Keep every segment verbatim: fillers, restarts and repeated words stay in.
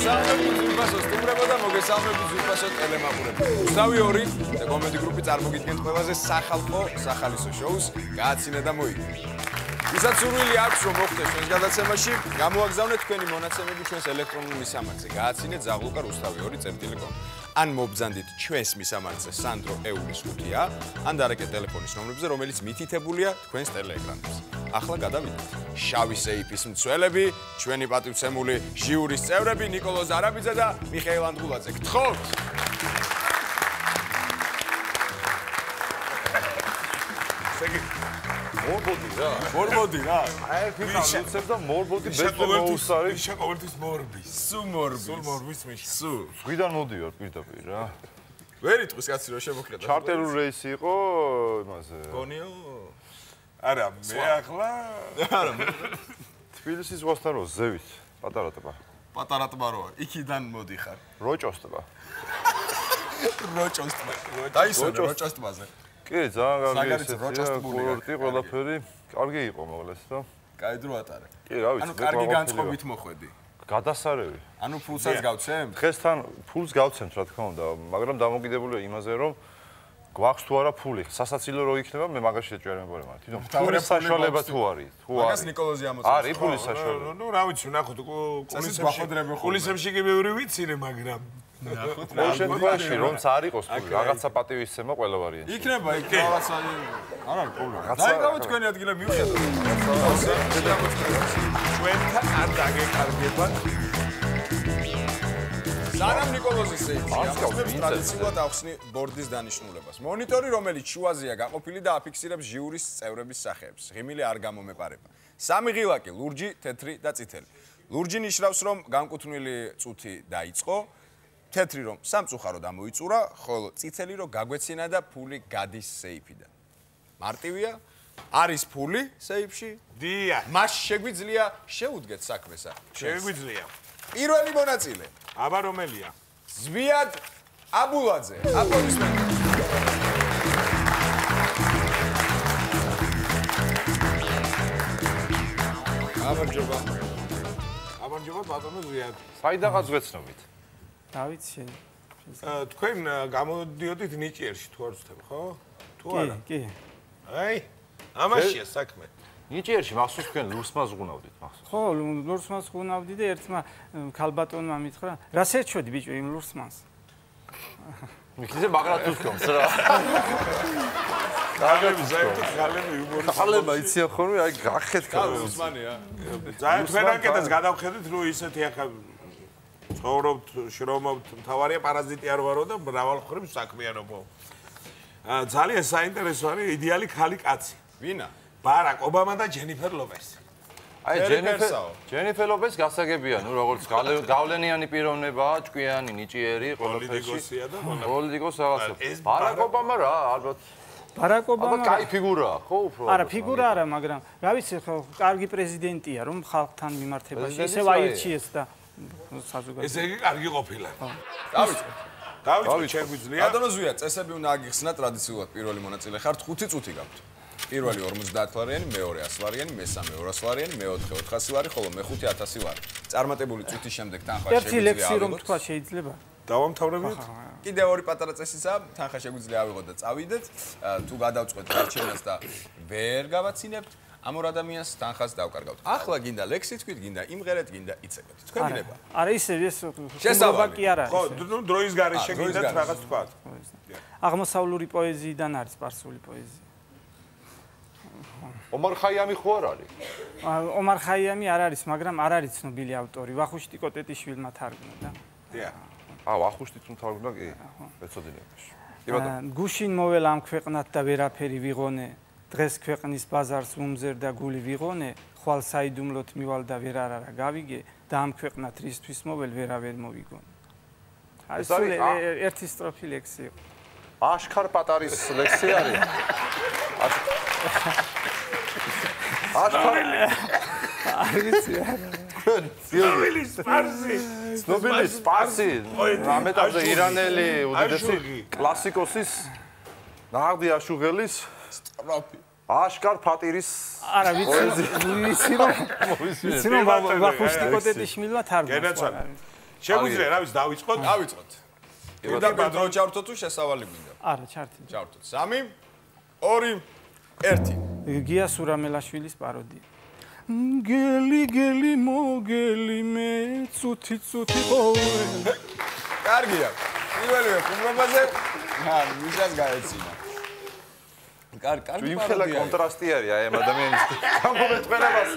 მოგესალმებით ზურბასო სტუმრებო და მოგესალმებით ზურბასო ტელემაყურებო. უცნაური ორი კომედი გრუპი წარმოგიდგენთ ყველაზე სახალხო სახალისო შოუს გააცინე და მოიგე. ვისაც სურვილი აქვს რომ მოხვდეს ჩვენს გადაცემაში, გამოაგზავნეთ თქვენი მონაცემები ჩვენს ელექტრონულ მისამართზე. გააცინეთ ზაღლუკა რუსთავი ორი წერტილი კომ. ან მობრძანდით ჩვენს მისამართზე სანდრო ეურის ხუთია, ან დარეკეთ ტელეფონის ნომრებზე, რომელიც მითითებულია თქვენს ტელეეკრანებზე. ახლა გადავიდეთ. შავი სეიფის მცველები, ჩვენი პატივცემული ჟიურის წევრები ნიკოლოზ ზარაბიძე და მიხეილ ანდღულაძე. გთხოვთ. სეგი მორბოდი რა. მორბოდი რა. აი ფიქრობ უცებ და მორბოდი ბესტმოუსარი. ისე ყოველთვის მორბის. სუ მორბის. სულ მორბის მიში. სუ. გვიდან მოდიოარ პირდაპირ რა. ვერ იტყვის კაცი რომ შემოხლია. ჩარტერულ რეისი იყო იმაზე. გონიო. არა, მე ახლა არა, მე თბილისის ზღვასთან რო ზევით, პატარა ტბა. პატარა ტბა როა, იქიდან მოდიხარ. როჭოს ტბა. როჭოს ტბა. დაისვენე როჭოს ტბაზე. კი, ძალიან კარგი საგარიცო როჭოს ტბული. კურორტი, ყველაფერი კარგი იყო მოკლეს და. კაი დრო ატარე. კი, რა ვიცი, ანუ კარგი განწყობით მოხვედი. გადასარევი. ანუ ფულსაც გავცემ? დღესთან ფულს გავცემთ, რა თქმა უნდა, მაგრამ დამოკიდებულია იმაზე, რომ გვაქვს თუ არა ფული. სასაცილო რო იქნება, მე მაგაში ეჭვერებოდი მაგრამ. თვითონ ფულის საშუალება თუ არის? თუ არის. მაგას ნიკოლოზი ამოწევს. არის ფულის საშუალება. ნუ რა ვიცი, ნახოთ, კულისებში კი ბევრი ვიცინე, მაგრამ ნახოთ. რა შემთხვევაში რომც არ იყოს ფული, რაღაცა პატივისცემა ყველა ვარიანტი. იქნება იქ რაღაცა არ არის პრობლემა. დაიგავოთ თქვენი ადგილე მივხედოთ. ჩვენთან არ დაგეკარგებათ. სანამ ნიკოლოზის სეიფი ამოწმებს ტრადიციულად ახსნი ბორდის დანიშნულებას. მონიტორი, რომელიც შუაზეა გაყოფილი და აფიქსირებს ჟიურის წევრების სახეებს. ღიმილი არ გამომეპარება. სამი ღილაკი, ლურჯი, თეთრი და წითელი. ლურჯი ნიშნავს, რომ განკუთვნილი წუთი დაიწყო, თეთრი რომ სამწუხაროდ ამოიწურა, ხოლო წითელი რომ გაგვეცინა და ფული გადის სეიფიდან. მარტივია, არის ფული სეიფში? დიახ. მას შეგვიძლია შეუდგეთ საქმესა. შეგვიძლია. პირველი მონაწილე. აბა რომელია? ზვიად აბულაძე. აპლოდისმენტები. გამარჯობა. გამარჯობა ბატონო ზვიად. საიდანაც ვეცნობით? დავით შენ. თქვენ გამოდიოდით ნიჭიერში თუ არ ვცდები, ხო? თუ არა? კი, კი. აი, ამაშია საქმე. ნიჭიერში მახსოვს თქვენ ლურსმას ზღუნავდით მახსოვს. ხო, ლურსმანს ზღუნავდი და ერთმა ქალბატონმა მითხრა, რას ეჩვედი ბიჭო იმ ლურსმანს? მიქიზე მაგრად თვითონს რა. გალები ზაერთო გალები იუმორი. ხალება იციან ხოლმე, აი გახეთ კალო უსმანია. ძალიან თქვენ აკეთებს გადავხედეთ, რომ ისეთი ახლა ცხოვრობთ, შრომობთ, მთავარია პარაზიტი არ ვარო და მრავალ ხრივ საქმიანობო. ძალიან საინტერესო არის იდეალი ქალი კაცი. ვინა? ბარაკ ობამა და ჯენიფერ ლოპესი. აი ჯენიფერ ჯენიფერ ლოპესი გასაგებია, ნუ როგორც გავლენიანი პიროვნებაა, ჭკვიანი, ნიჭიერი, ყველაფერში. პოლიტიკოსია და პოლიტიკოს რაღაცა. ბარაკ ობამა რა, ალბათ. ბარაკ ობამა. აბა კაი ფიგურაა, ხო უფრო? არა, ფიგურა არა, მაგრამ რა ვიცი, ხო, კარგი პრეზიდენტია, რომ ხალხთან მიმართებაში ისევ აირჩიეს და საზოგადოება. ესე იგი კარგი ყოფილა. დავიწყოთ. დავიწყოთ, შეგვიძლია. ბატონო ზვია, წესები უნდა აგიხსნა ტრადიციულად პირველი მონაწილე ხართ, ხუთი წუთი გაქვთ. პირველი ორმოცდაათ ლარიანი, მეორე ას ლარიანი, მესამე ორას ლარიანი, მეოთხე ოთხასი ლარი, ხოლო მეხუთე ათასი ლარი. წარმატებული წუთის შემდეგ თანხა შეგვიძლია. ერთი ლექსი რომ თქვა შეიძლება. დავამთავრებთ. კიდევ ორი პატარა წესისა, თანხა შეგვიძლია ავიღოთ და წავიდეთ. თუ გადავწყვეთ გარჩევას და ვერ გავაცინებთ, ამ ორ ადამიანს თანხას დავკარგავთ. ახლა გინდა ლექსი თქვით, გინდა იმღერეთ, გინდა იცეკეთ. თქვენ გინება. არა, ისე ეს შესაბამი კი არა. ხო, ნუ დროის გარეშე გინდათ რაღაც თქვათ. აღმოსავლური პოეზიიდან არის სპარსული პოეზია. ომარ ხაიამი ხო არ არის? ომარ ხაიამი არ არის, მაგრამ არ არის ცნობილი ავტორი. ვახუშტი კოტეტიშვილმა თარგმნა და. დიახ. აა, ვახუშტი თუ თარგმნა კი. ეცოდინებაში. კი ბატონო. გუშინ მოველა ამ ქვეყნად და ვერაფერი ვიღონე. დღეს ქვეყნის ბაზარს უმზერ და გული ვიღონე. ხვალ საიდუმლოთ მივალ და ვერ არარა გავიგე და ამ ქვეყნად რისთვის მოվել ვერავერ მოვიგონე. აი, სულ ერთი სტროფი ლექსი იყო. აშქარ პატარის ლექსი არის. აშქარ არის ცნობილი სპარსი. ცნობილი სპარსი. ამეტავზე ირანელი უდიდესი კლასიკოსის ნაღდი აშუღელის სტროფი. აშკარ ფატირის არა ვიცი ვიცი რომ ვიცი რომ ვახუშტი კოტეტიშვილმა თარგმნა. შეგვიძლია რა ვიცი დავიწყოთ? დავიწყოთ. პირდაპირ დრო ჩავრთოთ თუ შესავალი გვინდა? არა, ჩართი. ჩავრთოთ. სამი, ორი, ერთი. გია სურამელაშვილის პაროდია. გელი გელი მოგელი მე ცუთი ცუთი ყოველ. კარგია. პირველივე ხუმრობაზე ა მისას გაეცინა. კარგი, კარგი იმ ხელა კონტრასტი არის აი ამ ადამიანის გამომეტყველებას.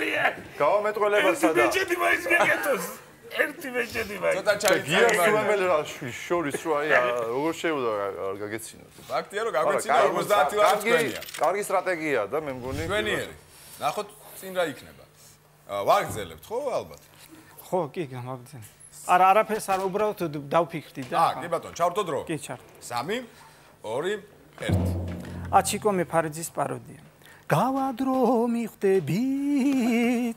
გამომეტყველებასა და მეჭედი მაინც გეკეთოს. ერთი მეჭედი მაინც. ცოტა ჩაიწა. გია სურამელაშვილის შორის რო აი როგორ შეუდა გაგეცინოთ. ფაქტია რომ გაგვეცინა ორმოცდაათი ლარი თქვენია. კარგი სტრატეგიაა და მე მგონი თქვენიერი. ნახოთ წინ რა იქნება. ვაგრძელებთ ხო ალბათ? ხო, კი, გამაგრძელე. არა, არაფერს არ უბრალოდ დავფიქრდი და აა, კი ბატონო, ჩავრთო დრო. კი, ჩართო. სამი, ორი, ერთი. აჩიკო მეფარეძის პაროდია. გავადრო მიხვდები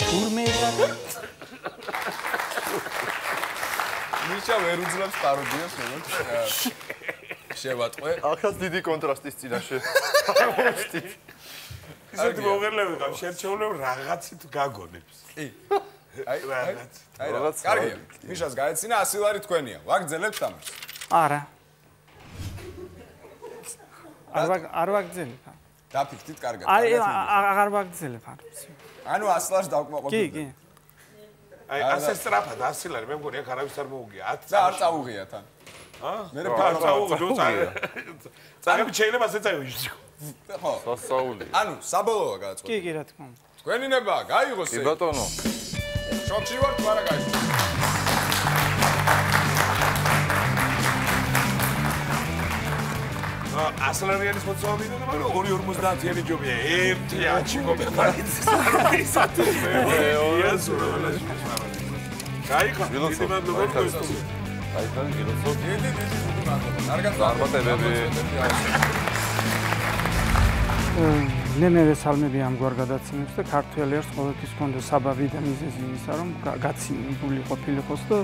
თურმე და მიშა ვერ უძლებს პაროდიას, როგორც შევატყვე. ახაც დიდი კონტრასტის წინაშე. ისეთი მოგერლები ყავს, შერჩეულებ რაღაცით გაგონებს. კი. აი, რაღაც. აი, რაღაც. კარგია. მიშას გაეცინა ასი ლარი თქვენია. ვაგრძელებთ ამას? არა. არ ვაგ არ ვაგრძელებ. დაფიქრდით კარგად. აი, აღარ ვაგრძელებ არ. ანუ ასი ლარს დავკმაყოფილებ. კი, კი. აი, ასე სწრაფად ასი ლარი, მე მგონი აქ არავის არ მოუგია. და არ წაუღია თან. ა? მე არ წაუღია, წაგები შეიძლება ასე წაივიში. ხო. სასაული. ანუ საბოლოოა გადაწყვეტილი. კი, კი, რა თქმა უნდა. თქვენინება გაიგოს კი ბატონო. შოქში ვარ თუ არა გაიგოს. ასლარიანის მოწოვა მინდა და მაგრამ ორი ორმოცდაათიანი ჯობია. ერთი აჩიკო მეფარეძის ისეთი მეორი სურამელაში. გაიქო, დიდი მადლობა გქონდეთ. აი თან გილოცოთ. დიდი დიდი დიდი მადლობა. კარგად წარმატებები. მე მე ვესალმები ამგვარ გადაცემებს და ქართველი არს ყოველთვის ჰქონდა საბაბი და მიზეზი იმისა, რომ გაცინებული ყოფილიყოს და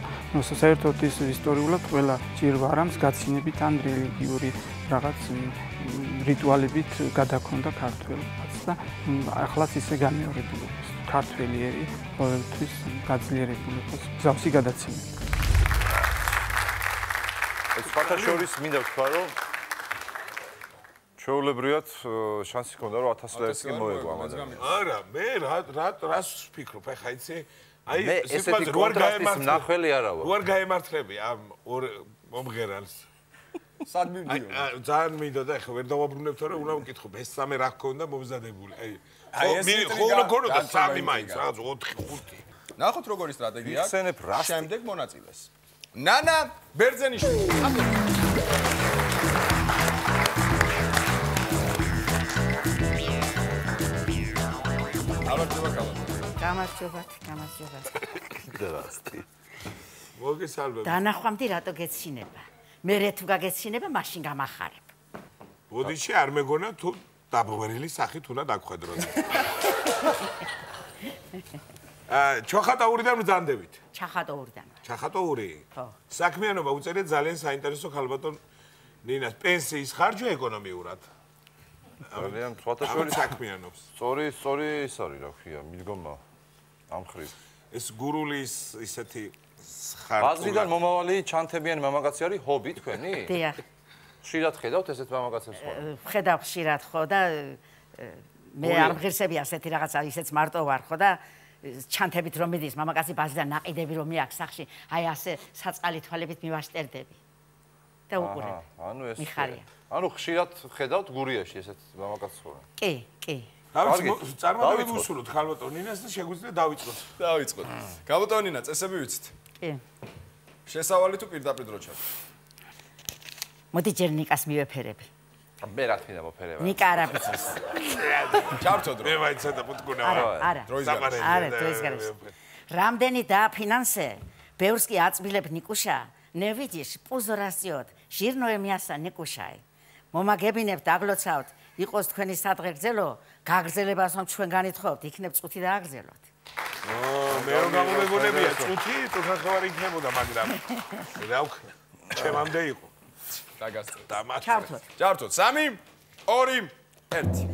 საერთოდ ის ისტორიულად ყველა ჭირვა რამს გაცინებით ან რელიგიური რაღაც რიტუალებით გადაქონდა ქართველებს და ახლაც ისე განმეორებული იყოს. ქართველი ერი ყოველთვის გაძლიერებული იყოს გზავსი გადაცემებით. ეს ფაქტა შორის მინდა ვთქვა, რომ ჩვეულებრივად შანსი ჰქონდა რომ ათას ლარს კი მოეგო ამ ადამიანს. არა, მე რა რა რას ვფიქრობ, ახლა იცი? აი, მე ესეთი კონტრასტის მნახველი არა ვარ. როარ გაემართლები ამ ორ მომღერალს. სად მივდიო? აი, ძალიან მინდა და ახლა ვერ დავაბრუნებ, თორე უნდა ვკითხო, ეს სამი რა ჰქონდა მომზადებული. აი, აი, ეს ხო რა ქონდა სამი მაინც, რაღაც ოთხი, ხუთი. ნახოთ როგორი სტრატეგია აქვს. ვიხსენებ რას შემდეგ მონაწილეს. ნანა ბერძენიშვილი. გამარჯობა კალათი. გამარჯობათ, გამარჯობათ. დრასტი. მოგესალმებით. დანახვამდე რატო გეცინება? მე რე თუ გაგეცინება, მაშინ გამახარებ. ბოდიში არ მეგონა თუ დაბღვერილი სახით უნდა დაგხვედროთ. აა, ჩოხატაურიდან მზანდებით. ჩახატოურიდან. ჩახატოური? ხო. საქმიანობა უწერიეთ ძალიან საინტერესო ხალბატონ ნინას პენსიის ხარჯვა ეკონომიურად. ძალიან სხვათა შორის საქმიანობს. სწორი, სწორი ის არის, რა ქვია, მიდგომა ამ ხრივ. ეს გურულის ისეთი ხარჯვა. ბაზრიდან მომავალი ჩანთებიანი მამაკაცი არის ჰობი თქვენი? დიახ. ხშირად ხედავთ ესეთ მამაკაცებს ხო? ვხედავ ხშირად ხო და მე არ მღირსები ასეთი რაღაცა, ისეც მარტო ვარ ხო და ჩანთებით რომ მიდის მამაკაცი ბაზრიდან ნაყიდები რომ მიაქვს სახში, აი ასე საწყალი თვალებით მივაშტერდები. და უყურებ. ანუ ეს მიხარია. ანუ ხშირად ხედავთ გურიაში ესეთ მამაკაცს ხო? კი, კი. დავიწყოთ, წარმატებით ვუსულოთ ხალბატონ ნინას და შეგვიძლია დავიწყოთ. დავიწყოთ. გაბატონ ნინა, წესები ვიცით. კი. შესავალი თუ პირდაპირ დრო ჩავ. მოდი ჯერ ნიკას მივეფერები. მე რა თქმა უნდა მოფერება. ნიკა არ აბიცოს. ჩავთო დრო. მე მაინც და პუტკუნა არა, ვარ. არა. დროის გარშემო. არა, დროის გარშემო. რამდენი დააფინანსე, ბევრს კი აწბილებ ნიკუშა, ნევიჯიშ პუზორასიოთ, ჟირნოე მიასა ნიკუშაი. მომაგებინებ დაგლოცავთ, იყოს თქვენი სადღეგრძელო, გაგრძელებას რომ ჩვენ განითხოვთ, იქნებ წუთი დააგრძელოთ. ო, მე რომ გამომეგონებია წუთი, თუ ხახავარი იქნებოდა, მაგრამ რა ვქნა, ჩემამდე იყო. დაგასწრე. დამატე. ჩავთოთ. ჩავთოთ. სამი, ორი, ერთი.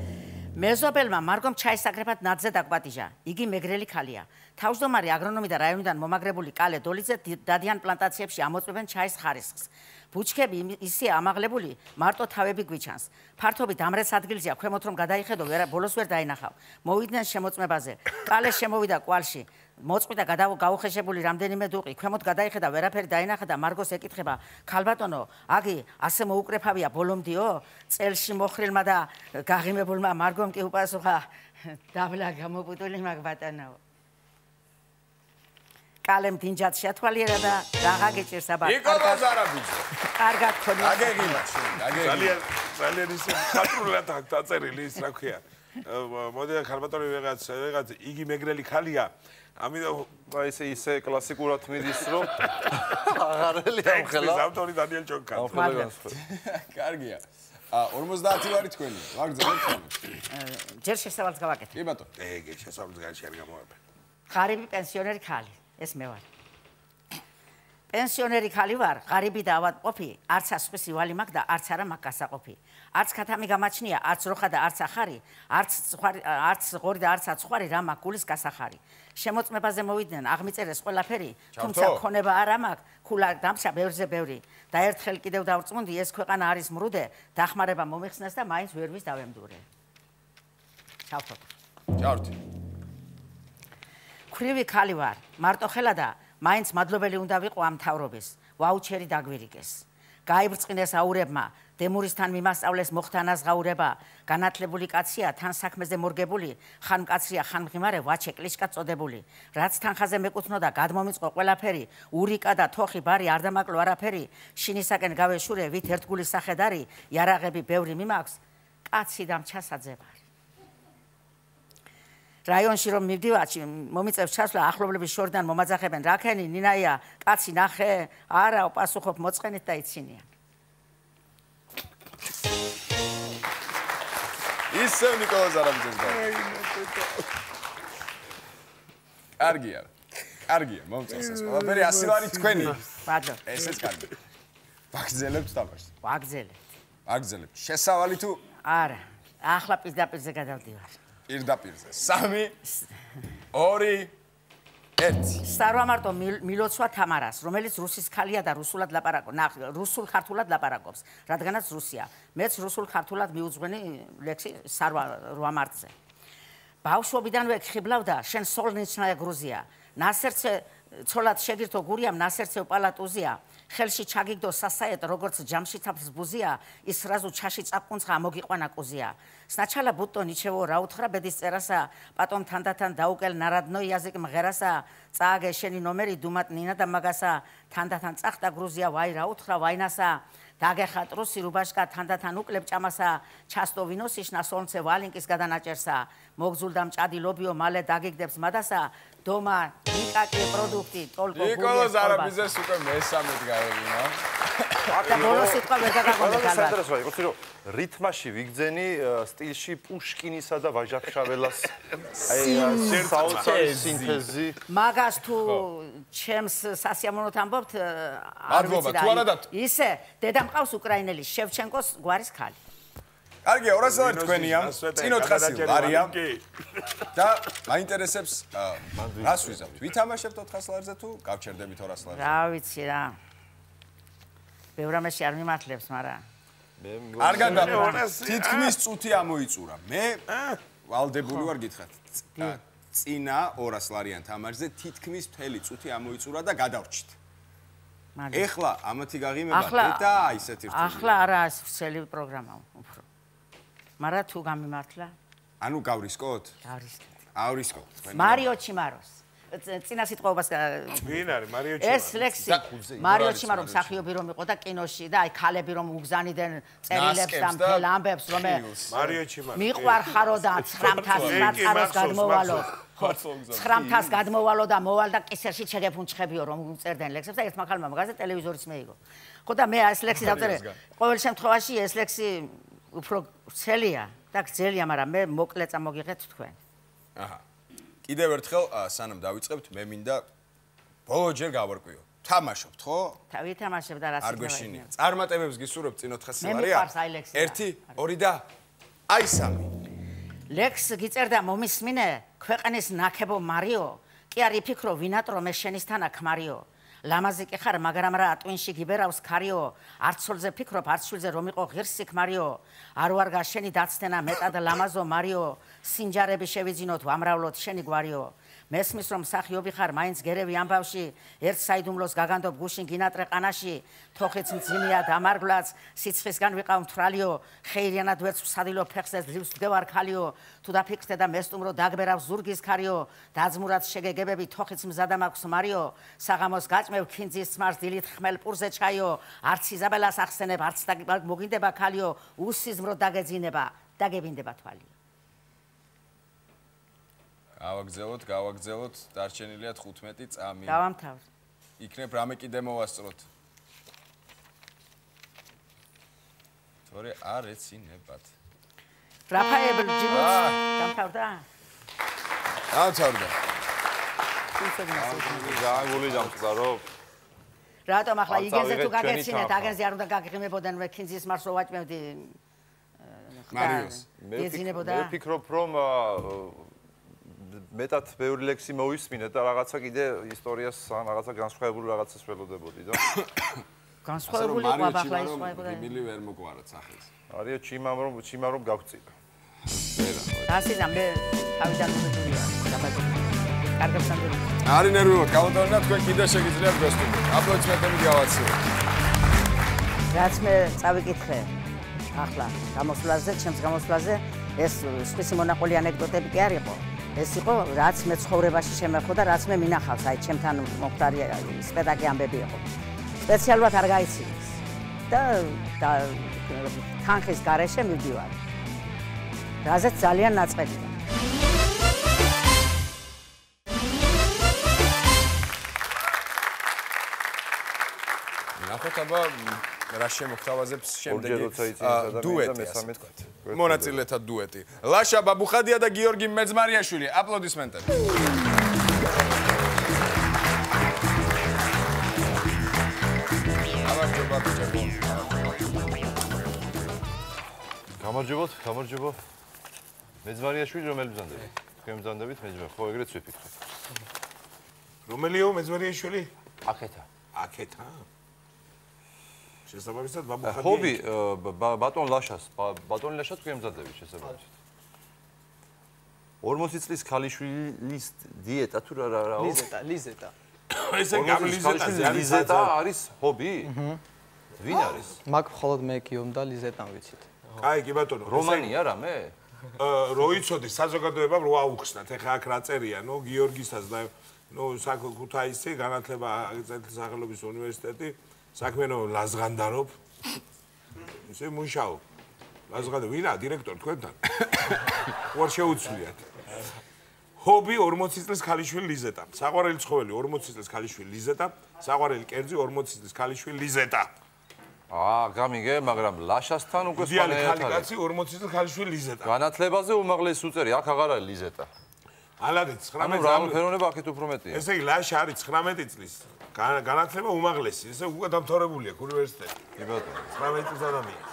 მეზობელმა მარგომ ჩაისაგრებად ნაძზე დაგვატიჟა. იგი მეგრელი ქალია. თავმჯდომარე აგრონომი და რაიონიდან მომაგრებული კალე დოლიძე დადიან პლანტაციებში ამოწმებენ ჩაის ხარისხს. ბუჩქები ისე ამაღლებული, მარტო თავები გვიჩანს. ფართობით ამრეც ადგილზეა, ქვემოთ რომ გადაიხედო, ბოლოს ვერ დაინახავ. მოვიდნენ შემოწმებაზე. კალე შემოვიდა კვალში. მოწყვიტა გაუხეშებული რამდენიმე დუყი, ქვემოთ გადაიხედა, ვერაფერი დაინახა და მარგოს ეკითხება: "ქალბატონო, აგი ასე მოუკრეფავია ბოლომდიო?" წელში მოხრილმა და გაღიმებულმა მარგომ კი უპასუხა: "დაბლა გამობუტული მაგ ბატონო." კალემ დინჯად შეათვალიერა და დაღაგეჭირს აბა. ნიკოლო ზარაბიძე. კარგად ხონი. აგეგინა, აგეგინა. ძალიან ძალიან ისე ხატრულად აქვს დაწერილი ის რა ქვია. მოდი ქალბატონი ვიღაც ვიღაც იგი მეგრელი ხალია. ამიტომ აი ესე ისე კლასიკურად მიდის რომ აღარელი ამხელა. ეს ავტორი დანიელ ჯონკა. კარგია. ორმოცდაათი ვარი თქვენი. ვაგრძელებთ ხოლმე. ჯერ შესავალს გავაკეთე. კი ბატონო. ეგ შესაძლოა განში არ გამოვაბე. ღარიბი პენსიონერი ქალი, ეს მე ვარ. პენსიონერი ხალი ვარ, ღარიბი და ავადმყოფი, არც ასხვის ივალი მაქვს და არც არა მაქვს გასაყოფი. არც ქათამი გამაჩნია, არც როხა და არც ახარი, არც ხვარი, არც ღორი და არც აცხვარი რა მაქვს გულის გასახარი. შემოწმებაზე მოვიდნენ, აღმიწერეს ყველაფერი, თუმცა ქონება არა მაქვს, ქულა დამშა ბევრზე ბევრი. და ერთხელ კიდევ დავწმუნდი, ეს ქვეყანა არის მრუდე, დახმარება მომიხსნეს და მაინც ვერ ვის დავემდურე. ჩავთო. ჩავთი. ქრივი ხალი ვარ, მარტო ხელა და მაინც მადლობელი უნდა ვიყო ამ თავრობის, ვაუჩერი დაგვირიგეს. გაიბრწყინეს აურებმა, დემურისთან მიმასწავლეს მოხთანას ღაურება, განათლებული კაცია, თან საქმეზე მორგებული, ხან მკაცრია, ხან მღიმარე, ვაჩე კლიშკა წოდებული. რაც თანხაზე მეკუთვნოდა, გადმომიწყო ყველაფერი, ურიკა და თოხი ბარი არ დამაკლო არაფერი, შინისაკენ გავეშურე, ვით ერთგულის სახედარი, იარაღები ბევრი მიმაქვს, კაცი და მჩასაძებარი. რაიონში რომ მივდივარ, მომიწევს ჩასვლა, ახლობლების შორიდან მომაძახებენ, რაქენი, ნინაია, კაცი ნახე, არა, პასუხობ მოწყენით და იცინიან. ისევ ნიკოლო ზარაბიძეს და. კარგია. კარგია, მომწონს ეს ყველაფერი, ასი ვარი თქვენი. ბატონო. ესეც კარგი. ვაგრძელებთ თამაშს. ვაგრძელებთ. ვაგრძელებთ. შესავალი თუ არა, ახლა პირდაპირზე გადავდივარ. პირდაპირზე. სამი, ორი, ერთი. სტარვამარტო მილოცვა თამარას, რომელიც რუსის ქალია და რუსულად ლაპარაკობს, რუსულ ქართულად ლაპარაკობს, რადგანაც რუსია. მეც რუსულ ქართულად მიუძღვენი ლექსი სტარვამარტზე. ბავშვობიდანვე ხიბლავდა, შენ სოლნიჩნაია გრუზია. ნასერცე ცოლად შეგირთო გურიამ, ნასერცე უპალატუზია. ხელში ჩაგიგდო სასაეთ, როგორც ჯამში თაფს ბუზია, ის რაზუ ჩაში წაკუნცხა მოგიყვანა კუზია. სნაჩალა ბუტო ნიჩევო რა უთხრა ბედის წერასა, პატომ თანდათან დაუკელ ნარადნო იაზიკ მღერასა, წააგე შენი ნომერი დუმატ ნინა და მაგასა, თანდათან წახტა გრუზია, ვაი რა უთხრა ვაინასა, დაგეხა ტრუსი რუბაშკა, თანდათან უკლებ ჭამასა, ჩასტო ვინოსიშნა სოლნცე ვალინკის გადანაჭერსა, მოგზულდა მჭადი ლობიო მალე დაგიგდებს მადასა, დომა ნიკაკი პროდუქტი ტოლკო გულეს ნიკოლო ზარაბიძეს უკვე მესამედ გავევინა. აკა ბოლოს სიტყვა ვერ დაგაგონდა ალბათ. საინტერესოა, იცი რომ რითმაში ვიგძენი სტილში პუშკინისა და ვაჟახშაველას აი საოცარი სინთეზი. მაგას თუ ჩემს სასიამოვნოთ ამბობთ, არ მადლობა, თუ არა და ისე დედა მყავს უკრაინელი შევჩენკოს გვარის ქალი. კარგია, ორასი ვარი თქვენია. წინ ოთხასი ვარია. და მაინტერესებს რას ვიზავთ? ვითამაშებთ ოთხას ლარზე თუ გავჩერდებით ორას ლარზე? რა ვიცი რა. ბევრამაში არ მიმართლებს, მაგრამ კარგად და თითქმის წუთი ამოიწურა. მე ვალდებული ვარ გითხრათ. წინა ორას ლარიან თამაშზე თითქმის მთელი წუთი ამოიწურა და გადავრჩით. ეხლა ამათი გაღიმება და ისეთი რთული. ახლა არა ასწელი პროგრამა უფრო. მაგრამ თუ გამიმართლა? ანუ გავრისკოთ? გავრისკოთ. ავრისკოთ. მარიო ჩიმაროს. წინა სიტყვაობას ვინ არის მარიო ჩიმარო? ეს ლექსი მარიო ჩიმარო მსახიობი რომ იყო და კინოში და აი ქალები რომ უგზანიდან წერილებს და მთელ ამბებს რომ მარიო ჩიმარო მიყვარხარო და ცხრამთას მაწაროს გადმოვალო. ცხრამთას გადმოვალო და მოვალ და კისერში ჩეგეფუნჩხებიო რომ უწერდნენ ლექსებს და ერთმა ქალმა მაგაზე ტელევიზორიც მეიგო. ხო და მე ეს ლექსი დავწერე. ყოველ შემთხვევაში ეს ლექსი უფრო ცელია და გძელია, მაგრამ მე მოკლე წამოგიღეთ თქვენ. აჰა. კიდევ ერთხელ სანამ დავიწყებთ, მე მინდა ბოლოჯერ გავარკვიო. თამაშობთ, ხო? ვითამაშებ და რას არ გვეშინია. წარმატებებს გისურვებთ წინ ოთხასი მე ლარია. მიყვარს აი ლექსი. ერთი, ორი და აი სამი. ლექს გიწერდა მომისმინე ქვეყნის ნაკებო მარიო კი არ იფიქრო ვინატრო მე შენისთანა ქმარიო ლამაზი კი ხარ მაგრამ რა ტვინში გიბერავს ქარიო არცოლზე ფიქრობ არცულზე რომ იყო ღირსი ქმარიო არ ვარ გაშენი დაცდენა მეტად ლამაზო მარიო სინჯარები შევიძინოთ ვამრავლოთ შენი გვარიო მესმის რომ სახიობი ხარ მაინც გერევი ამბავში ერთ საიდუმლოს გაგანდობ გუშინ გინატრე ყანაში თოხიც მძიმეა დამარგვლაც სიცხისგან ვიყავ მთრალიო ხეირიანად ვერც ვსადილო ფეხზე ძლივს ვდგევარ ქალიო თუ დაფიქრდე და მესტუმრო დაგბერავს ზურგის ქარიო დაძმურად შეგეგებები თოხიც მზადა მაქვს მარიო საღამოს გაჭმევ ქინძის თმარს დილით ხმელ პურზე ჩაიო არც იზაბელას ახსენებ არც მოგინდება ქალიო უსიზმრო დაგეძინება დაგებინდება თვალიო გავაგზავნოთ, გავაგზავნოთ, დარჩენილია თხუთმეტი წამი. დავამთავრ. იქნებ რამე კიდე მოვასწროთ. თორე არ ეცინებათ. რაფაელ ჯიბუს დამთავრდა? დამთავრდა. გააგული დამწყარო. რატომ ახლა იგეზე თუ გაგეცინეთ, აგენზე არ უნდა გაგღიმებოდან მე ქინძის მარს რო ვაჭმევდი. მარიოს. ეძინებოდა. მე ვფიქრობ რომ მეტად ბევრი ლექსი მოვისმინეთ და რაღაცა კიდე ისტორიას ან რაღაცა განსხვავებული რაღაცას ველოდებოდი და განსხვავებული ყვაბახლა ის ყვაბახლა მილი ვერ მოგვარად სახელს არიო ჩიმამ რომ ჩიმამ რომ გავწინა ვერა დასიზამ მე თავიდან მოვიდია დაბადი კარგად სანდური არი ნერვიულად გავუტოვნა თქვენ კიდე შეგიძლიათ გასტუმროთ აპლოდისმენტები გავაცილოთ რაც მე წავიკითხე ახლა გამოსვლაზე ჩემს გამოსვლაზე ეს სხვისი მონაყოლი ანეკდოტები კი არ იყო ეს იყო რაც მე ცხოვრებაში შემეხო და რაც მე მინახავს აი ჩემთან მომხდარი სპექტაკლი ამბები იყო სპეციალურად არ გაიცინეს და თანხის გარეშე მივდივარ რაზეც ძალიან ნაწყებია ნახოთ აბა რა შემოგთავაზებს შემდეგი დუეტი მონაწილეთა დუეტი ლაშა ბაბუხადია და გიორგი მეძმარიაშვილი აპლოდისმენტები გამარჯობოთ გამარჯობო მეძმარიაშვილი რომელი ბრძანდებით თქვენ ბრძანდებით მეძმარ ხო ეგრეც ვიფიქრე რომელიო მეძმარიაშვილი აქეთა აქეთა შესაბამისად ბაბუხადია ჰობი ბატონ ლაშას ბატონ ლაშა თქვენ მზადებით შესაბამისად ორმოცი წლის ქალიშვილის დიეტა თუ რა რა ლიზეტა ლიზეტა ესე გამლიზეტა ლიზეტა არის ჰობი ვინ არის მაგ მხოლოდ მე გიომ და ლიზეტა ვიცით კაი კი ბატონო რომანია რამე რო იცოდი საზოგადოებამ რო აუხსნათ ეხა აქ რა წერია ნო გიორგისაც და ნო ქუთაისი განათლება აკრძალვის სახელობის უნივერსიტეტი საქმენო ლაზღანდარობ ისე მუშაობ ლაზღანდო ვინა დირექტორი თქვენთან უარ შეუცვლიათ ჰობი ორმოცი წლის ქალიშვილი ლიზეტა საყვარელი ცხოველი ორმოცი წლის ქალიშვილი ლიზეტა საყვარელი კერძი ორმოცი წლის ქალიშვილი ლიზეტა აა გამიგე მაგრამ ლაშასთან უკვე სპანე ქალიკაცი ორმოცი წლის ქალიშვილი ლიზეტა განათლებაზე უმაღლესი უწერი აქ აღარ არის ლიზეტა ალადე ცხრამეტი ანუ რა ფერონება აქეთ უფრო მეტია ესე იგი ლაშა არის ცხრამეტი წლის განათლება უმაღლესი ესე უკვე დამთავრებულია უნივერსიტეტი კი ბატონო ცხრამეტი წლის ადამიანი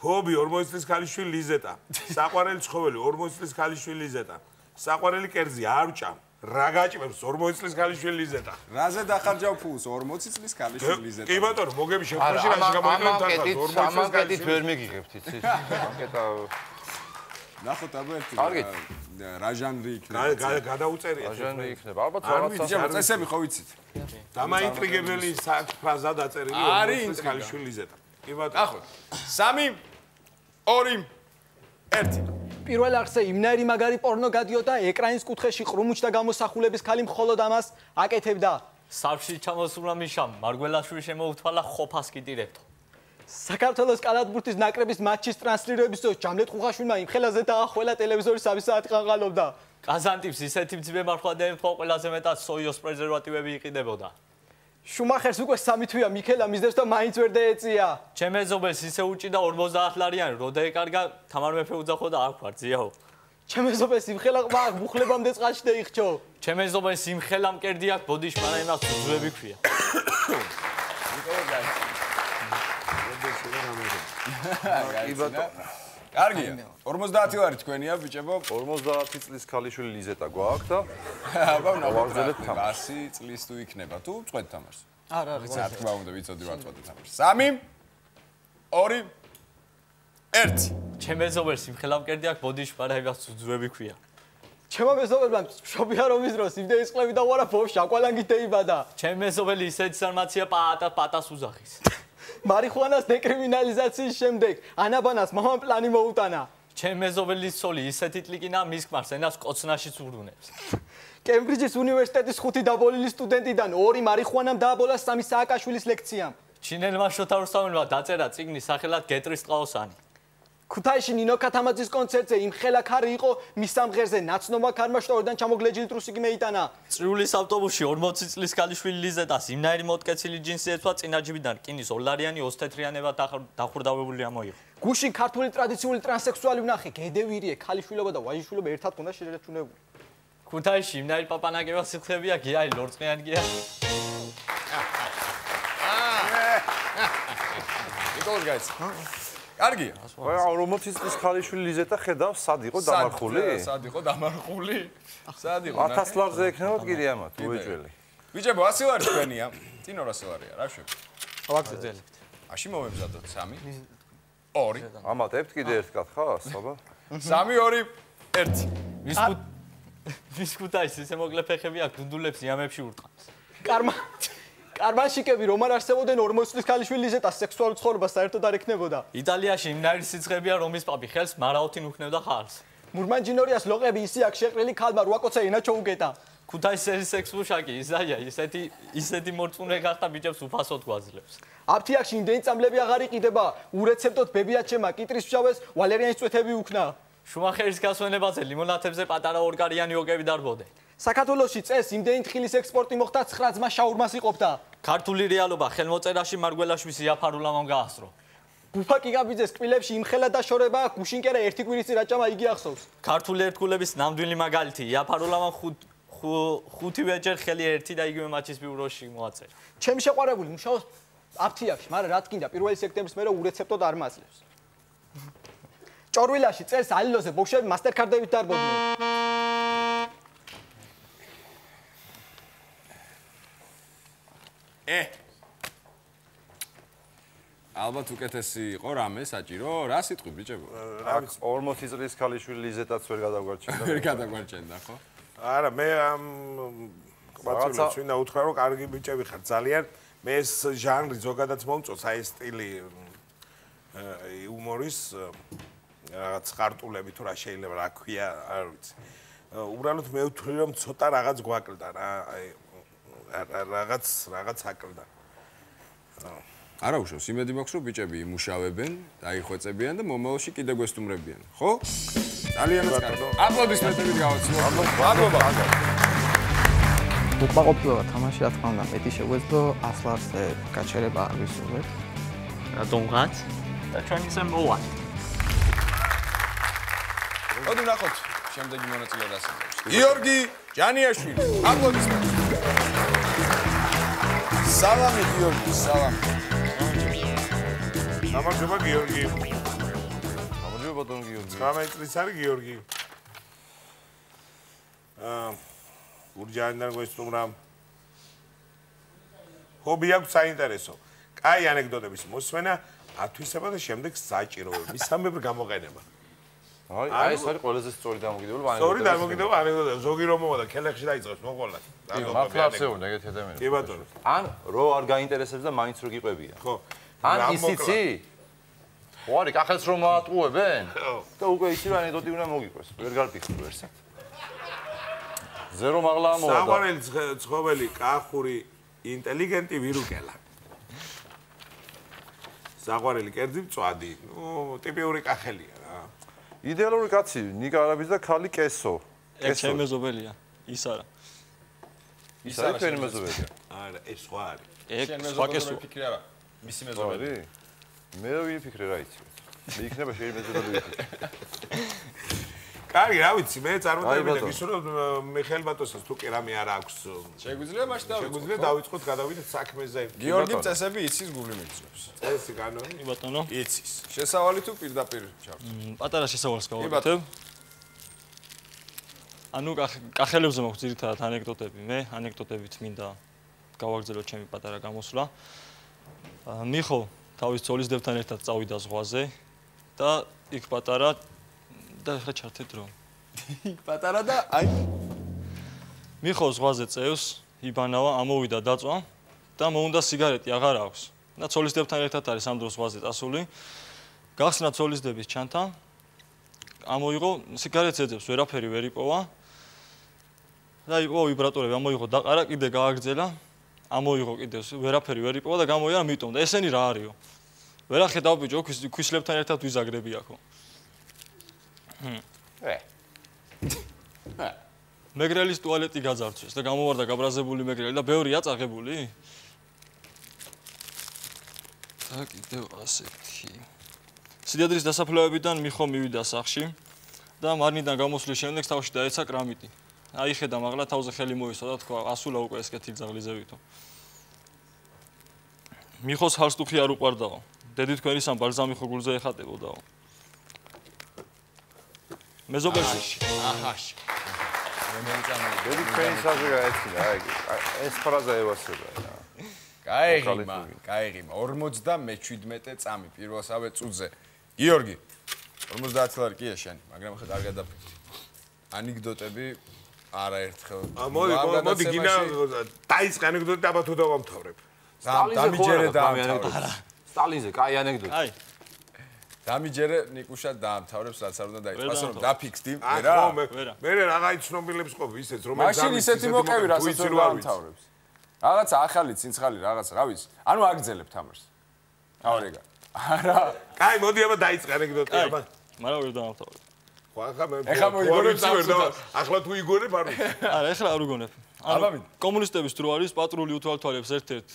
ჰობი ორმოცი წლის ქალიშვილი ლიზეტა საყვარელი ცხოველი ორმოცი წლის ქალიშვილი ლიზეტა საყვარელი კერძი არჭა რა გაჭმევს ორმოცი წლის ქალიშვილი ლიზეტა რაზე დახარჯავ ფულს ორმოცი წლის ქალიშვილი ლიზეტა კი ბატონო მოგები შეხვედრაში რაში გამოიყენებთ თანხას ორმოცი წლის ქალიშვილი ვერ მიგიღებთ იცი ანკეტა ნახოთ აბა ერთი კარგით რა ჟანრი იქნება გადაუწერია რა ჟანრი იქნება ალბათ რაღაცა წესები ხო ვიცით დამაინტრიგებელი ფრაზა დაწერილი ორმოცი წლის ქალიშვილი ლიზეტა კი ბატონო ნახოთ სამი ორი ერთი პირველ არხზე იმნაირი მაგარი პორნო გადიოდა ეკრანის კუთხეში ყრუმუჩდა გამოსახულების ქალი მხოლოდ ამას აკეთებდა სარფში ჩამოსულა მიშამ მარგველაშვილი შემოუთვალა ყოფას კიდირებთო საქართველოს კალათბურთის ნაკრების მატჩის ტრანსლირების დროს ჯამლეთ ხუხაშვილმა იმ ხელაზე დაახველა ტელევიზორის სამი საათი ყანყალობდა კაზანტიპს ისეთი მძიმე მარხვადები ხო ყველაზე მეტად სოიოს პრეზერვატივები იყიდებოდა შუმახერს უკვე სამი თვეა მიქელა მისდევს და მაინც ვერ დაეწია ჩემ ეზობელს ისე უჭიდა ორმოცდაათ ლარიანი რო დაეკარგა თამარ მეფე უძახო და არ ვქარძიაო ჩემ ეზობელს იმხელა ყმა მუხლებამდე წყალში დაიხჩო ჩემ ეზობელს იმხელა მკერდი აქვს ბოდიში მანამ იმას უძვები ქვია კი ბატონო კარგია. ორმოცდაათი ვარი თქვენია ბიჭებო. ორმოცდაათი წლის ქალიშვილი ლიზეტა გვაქვს და აბა ვაგრძელებთ თამაშს. ასი წლის თუ იქნება თუ წვეთ თამაშს. არა, არა. რა თქმა უნდა ვიცოდი რა წვეთ თამაშს. სამი ორი ერთი. ჩემ მეზობელს იმხელა მკერდი აქვს ბოდიში პარაებას უძვები ქვია. ჩემო მეზობელმა მშობია რომ ის დროს იმდენი წყლები დავარა ბავშვი აკვალანგით დაიბადა. ჩემ მეზობელი ისეთი ინფორმაცია პატა პატას უზახის. მარიხუანას დეკრიმინალიზაციის შემდეგ ანაბანას მამამ პლანი მოუტანა. ჩემ მეზობელის ცოლი ისეთი ტლიკინა მის ქმარს ენას კოცნაშიც ურუნებს. კემბრიჯის უნივერსიტეტის ხუთი დაბოლილი სტუდენტიდან ორი მარიხუანამ დააბოლა სამი სააკაშვილის ლექციამ. ჩინელმა შოთა რუსთაველმა დაწერა წიგნი სახელად გეტრის ყაოსანი. ქუთაისში ნინო ქათამაძის კონცერტზე იმხელა ქარი იყო მის სამღერზე ნაცნობა ქარმა შტორიდან ჩამოგლეჯილი ტრუსიკი მეიტანა. წრიულის ავტობუსში ორმოცი წლის ქალიშვილი ლიზეტას იმნაირი მოტკეცილი ჯინსი ეცვა წინაჯიბიდან რკინის ორლარიანი ოსთეთრიანებად დახურდავებული ამოიღო. გუშინ ქართული ტრადიციული ტრანსექსუალი ვნახე გედევირიე ქალიშვილობა და ვაჟიშვილობა ერთად ქონდა შერეჩუნებული. ქუთაისში იმნაირი პაპანაგება სიცხებია გიაი ლორწმიანი გია. იკოლ გაიც. კარგია. აი ორმოცი წლის ქალიშვილი ლიზეტა ხედავს სად იყო დამარხული? სად იყო დამარხული? სად იყო? ათას ლარზე ექნება კიდე ამათ უეჭველი. ბიჭებო, ასი ვარი თქვენია. წინ ორასი ვარია, რა შეგვიძლია? ვაგრძელებთ. აში მომემზადოთ სამი ორი ამატებთ კიდე ერთ კათხას, აბა. სამი ორი ერთი. ვის ქუთ ვის ქუთაისში ესე მოკლე ფეხები აქვს დუდულებს იამებში ურტყამს. კარმა კარმანშიკები რომ არ არსებობდნენ ორმოცი წლის ქალიშვილი ლიზეტას სექსუალურ ცხოვრებას საერთოდ არ ექნებოდა. იტალიაში იმნაირი სიცხებია რომის პაპი ხელს მარაოთინ უქნევდა ხალხს. მურმანჯინორიას ლოყები ისე აქ შეყრილი ქალმა რვაკოცა ენა ჩოუგეტა. ქუთაისის სექსმუშაკი ისაია ისეთი ისეთი მორწმუნე გახდა ბიჭებს უფასოდ გვაძლევს. აფთიაქში იმდენი წამლები აღარ იყიდება ურეცეპტოდ ბებიაჩემა კიტრის ფშავეს ვალერიანის წვეთები უქნა. შუმახერის გასვენებაზე ლიმონათებზე პატარა ორგარიანი ოკები დარბოდნენ. საქართველოში წეს იმდენი თხილის ექსპორტი მოხდა ცხრა ძმა შაურმას იყოფდა. ქართული რეალობა ხელმოწერაში მარგველაშვილის იაფარულამამ გაასწრო. ბუფა კიკაბიძეს კბილებში იმხელა დაშორება გუშინკერა ერთი კვირის წინ რაჭამა იგი ახსოვს. ქართული ერთგულების ნამდვილი მაგალითი იაფარულამამ ხუთივეჯერ ხელი ერთი და იგივე მატჩის ბიუროში მოაწერა. ჩემი შეყვარებული მუშაობს აფთიაქში, მაგრამ რა თქინდა პირველი სექტემბრის მერე ურეცეპტოდ არ მაძლევს. ჭორვილაში წელს ალილოზე ბოშები მასტერკარდებით დარბოდნენ. ე ალბათ უკეთესი იყო რამე საჭირო რა სიტყვი ბიჭებო აქ ორმოცი წლის ქალიშვილი ლიზეტაც ვერ გადაგვარჩენდა ვერ გადაგვარჩენდა ხო არა მე ამ ყბაწვილებს ვინდა უთხრა რომ კარგი ბიჭები ხარ ძალიან მე ეს ჟანრი ზოგადად მომწონს აი სტილი იუმორის რაღაც ხარტულები თუ რა შეიძლება რა ქვია არ ვიცი უბრალოდ მე ვთვლი რომ ცოტა რაღაც გვაკლდა რა აი რაღაც რაღაც აკლდა არა უშავს იმედი მაქვს რომ ბიჭები იმუშავებენ დაიხვეწებიან და მომავალში კიდე გვესტუმრებიან ხო ძალიან კარგი აპლოდისმენტები გავაცნობ მადლობა უკმაყოფილება თამაში რა თქმა უნდა მეტი შეგვეძლო ასლარზე გაჩერება არ ვისურვებ რატომღაც და ჩვენ ისე მოვა მოდი ვნახოთ შემდეგი მონაწილე რას იღებს გიორგი ჯანიაშვილი აპლოდისმენტები სალამი გიორგი სალამი გამარჯობა გიორგი. გამარჯობა ბატონ გიორგი. ცხრამეტი წლის არის გიორგი. აა გურჯაანიდან გვესტუმრა. ჰობი აქვს საინტერესო. კაი ანეკდოტების მოსმენა, ათვისება და შემდეგ საჭიროება. მისამებრ გამოყენება. აი, აი ეს არის ყველაზე სწორი დამოკიდებულება ანეკდოტებში. სწორი დამოკიდებულება ანეკდოტებში. ზოგი რომ მოვა და ქელეხში დაიწყებს მოყოლად. მართლა არსებობენ ეგეთი ადამიანები. კი ბატონო. ან რო არ გაინტერესებს და მაინც რო გიყვებიან. ხო. ან ისიცი? ვარი, კახელს რომ მოატყუებენ? და უკვე ისი რა ანეკდოტი უნდა მოგიყვეს. ვერ გარფიქრ ვერსად. ზერო მაღლა ამოვა. საყვარელი ცხოველი, კახური, ინტელიგენტი ვირუკელა. საყვარელი კერძი მწვადი. ნუ ტიპიური კახელია რა. იდეალური კაცი, ნიკა არაბის და ქალი კესო. ეს ჩემი მეზობელია. ის არა. ის არის თქვენი მეზობელია. არა, ეს სხვა არის. ეს სხვა კესო. ფიქრი არა. მისი მეზობელი. მე რა ვიფიქრე რა იცი. მე იქნება შეიძლება მეზობელი ვიფიქრე. კარგი, რა ვიცი, მე წარმოდები ის რომ მიხეილ ბატონსაც თუ კი რამე არ აქვს. შეგვიძლია მაშინ დავიწყოთ. შეგვიძლია დავიწყოთ გადავიდეთ საქმეზე. გიორგი წესები იცის გული მიგწევს. წესი განონი? კი ბატონო. იცის. შესავალი თუ პირდაპირ ჩავთ. პატარა შესავალს გავაკეთებ. ანუ კახელებზე მაქვს ძირითადად ანეკდოტები. მე ანეკდოტებით მინდა გავაგრძელოთ ჩემი პატარა გამოსვლა. მიხო თავის ძოლისდებთან ერთად წავიდა ზღვაზე და იქ პატარა და ხა ჩართე დრო. პატარა და აი მიხო ზღვაზე წევს, იბანავა, ამოვიდა დაწვა და მოუნდა სიგარეტი აღარ აქვს. და ძოლისდებთან ერთად არის ამ დროს ზღვაზე წასული. გახსნა ძოლისდების ჩანთა. ამოიღო სიგარეტს ეძებს, ვერაფერი ვერ იპოვა. და იყო ვიბრატორები, ამოიღო დაყარა, კიდე გააგრძელა. ამოიღო კიდე ვერაფერი ვერ იპოვა და გამოიარა მიტომ და ესენი რა არისო? ვერა ხედავ ბიჭო, ქვისლებთან ერთად ვიზაგრები აქო. ე. მეგრელის ტუალეტი გაძარცვეს და გამოვარდა გაბრაზებული მეგრელი და ბევრია წაღებული? და კიდევ ასეთი. სიძადრის დასაფლავებიდან მიხო მივიდა სახში და მარნიდან გამოსვლის შემდეგ თავში დაეცა კრამიტი. აიხედა მაღლა თავზე ხელი მოისვა და თქვა ასულა უკვე ეს კეთილი ძაღლიზევითო. მიხოს ჰალსტუხი არ უყვარდაო. დედი თქვენი სამ ბალზამი ხო გულზე ეხატებოდაო. მეზობელში. აჰაში. დედი თქვენი საზღვრა გაეცინა, აი ეს ფრაზა ევასება რა. გაიღიმა, გაიღიმა ორმოცდამეჩვიდმეტე წამი პირველსავე წუთზე. გიორგი ორმოცდაათი ლარი კია შენ, მაგრამ ხა არ გადაფიქრდი. ანეკდოტები არაერთხელ. მოდი, მოდი გინა დაიწყე ანეკდოტი აბა თუ დავამთავრებ. დამიჯერე დაამთავრებ. სტალინზე კაი ანეკდოტი. აი. დამიჯერე ნიკუშა დაამთავრებს, რაც არ უნდა დაიწყოს, რომ დაფიქსდი, ვერა? მე მე რაღაც ცნობილებს ყოფ ისეც რომელიც მაშინ ისეთი მოკევი, რასაც ვერ დაამთავრებს. რაღაცა ახალი ცინცხალი რაღაც, რა ვიცი. ანუ აგძელებ თამაშს. თავრეგა. არა. კაი, მოდი აბა დაიწყე ანეკდოტი აბა. მაგრამ ვერ დაამთავრებ. ხო, ახლა მე ეხლა მოიგონებ ვერ და ახლა თუ იგონებ არ ვიცი. არა, ეხლა არ უგონებ. ანუ კომუნისტების დრო არის პატრული უთვალთვალებს ერთ-ერთ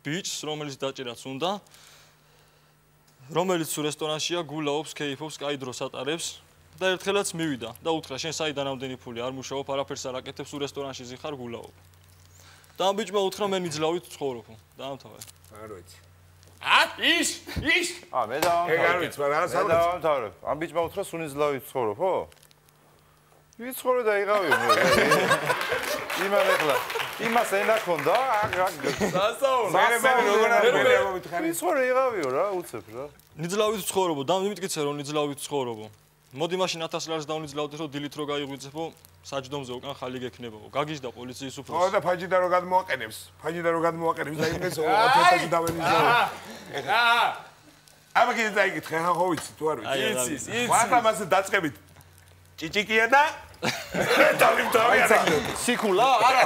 ბიჭს, რომელიც დაჭერაც უნდა, რომელიც სულ რესტორანშია, გულაობს, კეიფობს, კაი დროს ატარებს და ერთხელაც მივიდა და უთხრა, შენ საიდან ამდენი ფული არ მუშაობ, არაფერს არ აკეთებ, სულ რესტორანში ზიხარ, გულაობ. და ამ ბიჭმა უთხრა, მე ნიძლავით ცხოვრობ. დაამთავრე. არ ვიცი. ა ის ის ა მე დავამთავრე. ეგ არ ვიცი, მაგრამ რა მე დავამთავრე. ამ ბიჭმა უთხრა, სულ ნიძლავით ცხოვრობ, ხო? ვიცხოვე და იღავი მე. იმან ეხლა იმას ენა ქონდა, სასაუნ. მე მე როგორ არ მოვითხარი. ვიცხოვე იღავიო რა, უცებ რა. ნიძლავით ცხოვრობ და მივიტკიცე რომ ნიძლავით ცხოვრობ. მოდი მაშინ ათას ლარს დავნიძლავდეთ რომ დილით რო გაიღვიძებო, საჯდომზე უკან ხალი გექნებაო. გაგიჟდა პოლიციის უფროსი. ხო და ფაჯიდა რო გადმოაყენებს. ფაჯიდა რო გადმოაყენებს და იმეს ათასი დავენიძლავ. აა. აბა კიდე დაიგითხე, ხა ხო ვიცი თუ არ ვიცი. იცის, იცის. ხა მასე დაწყებით. ჭიჭიკია და დავიმ დავიარა. სიკულა? არა.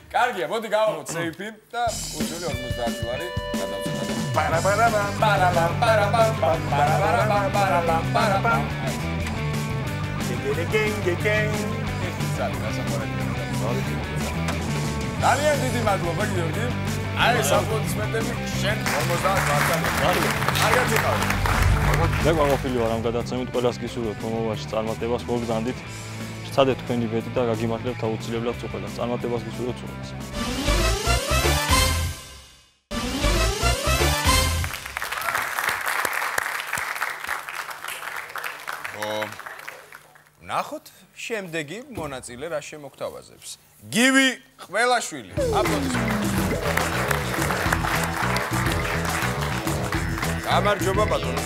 კარგია, მოდი გავაღოთ სეიფი და უძული ორმოცდაათი ლარი გადავწყვეტ. პარაპარაპამ პარაპამ პარაპამ პარაპარაპამ პარაპამ პარაპამ. გეგეგეგეგეგ. ძალიან დიდი მადლობა გიორგი. აი საფუძმეტები შენ ორმოცდაათი ლარი. კარგად იყავ. მე გვაყოფილი ვარ ამ გადაცემით, ყველას გისურვებთ მომავალში წარმატებას, მოგზანდით. სცადეთ თქვენი ბედი და გაგიმართლებთ აუცილებლად უყველას. წარმატებას გისურვებთ უყველას. ნახოთ შემდეგი მონაწილე რა შემოგთავაზებს. გივი ყველაშვილი. აპლოდისმენტები. გამარჯობა ბატონო.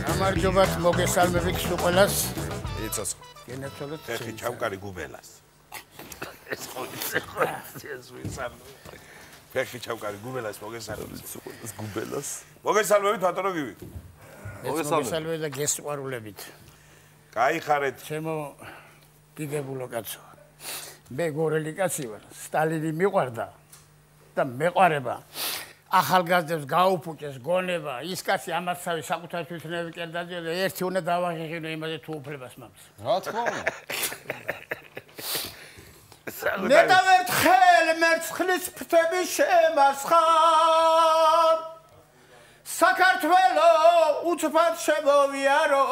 გამარჯობათ, მოგესალმებით ყველას. იცოცხლო. გენაცვალოთ ეხი ჩამკარი გუბელას. ეს ხო ისე ხო ეს ვისალმე. ეხი ჩამკარი გუბელას მოგესალმებით. ეს გუბელას. მოგესალმებით ბატონო გივი. მოგესალმებით და გესყვარულებით. გაიხარეთ. ჩემო დიდებულო კაცო. მე გორელი კაცი ვარ. სტალინი მიყვარდა და მეყვარება. ახალგაზრდებს გაუფუჭეს გონება, ის კაცი ამაცავი საკუთარ თვითნები კერდაძე და ერთი უნდა დავაღიღინო იმაზე თუ უფლებას მაქვს. რა თქმა უნდა. მე დავერთხელ მერცხლის ფრთები შემასხარ. საქართველო უცბად შემოვიარო.